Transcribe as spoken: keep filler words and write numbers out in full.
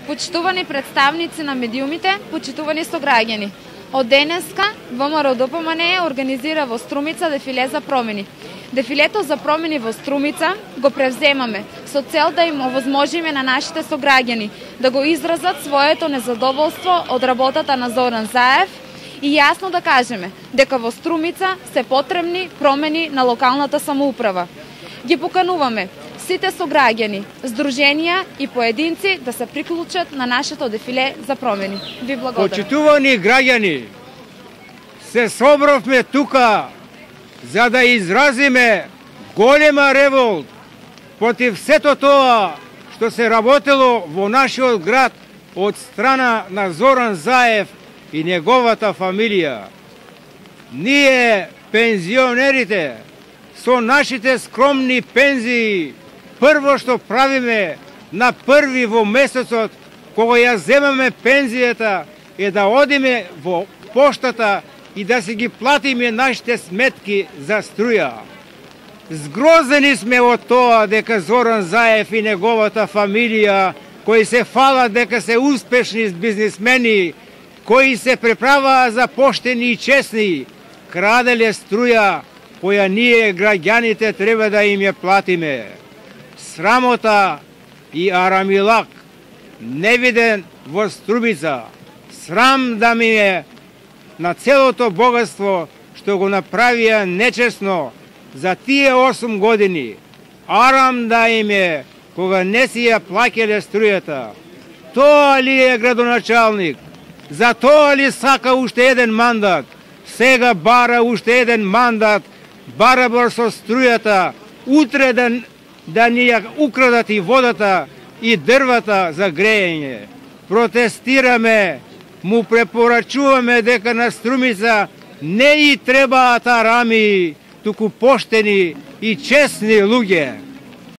Почитувани представници на медиумите, почитувани сограѓани. Од денеска ВМРО-ДПМНЕ организира во Струмица дефиле за промени. Дефилето за промени во Струмица го превземаме со цел да им овозможиме на нашите сограѓани да го изразат своето незадоволство од работата на Зоран Заев и јасно да кажеме дека во Струмица се потребни промени на локалната самоуправа. Ги покануваме сите сограѓани, здруженија и поединци да се приклучат на нашето дефиле за промени. Ви благодарам. Почитувани граѓани, се собравме тука за да изразиме голема револт против сето тоа што се работело во нашиот град од страна на Зоран Заев и неговата фамилија. Ние, пензионерите, со нашите скромни пензии, прво што правиме на први во месецот, кога ја земаме пензијата, е да одиме во поштата и да си ги платиме нашите сметки за струја. Згрозени сме од тоа дека Зоран Заев и неговата фамилија, кои се фалат дека се успешни бизнисмени, кои се преправаа за поштени и честни, краделе струја, која ние, граѓаните, треба да им ја платиме. Срамота и арамилак, невиден во Струмица. Срам да ми е на целото богатство што го направија нечесно за тие осум години. Арам да им е кога не си ја плаќале струјата. Тоа ли е градоначалник? За тоа ли сака уште еден мандат? Сега бара уште еден мандат, барабар со струјата, утре да, да ни ја украдат и водата и дрвата за грејење. Протестираме, му препорачуваме дека на Струмица не и требаат арами, туку поштени и честни луѓе.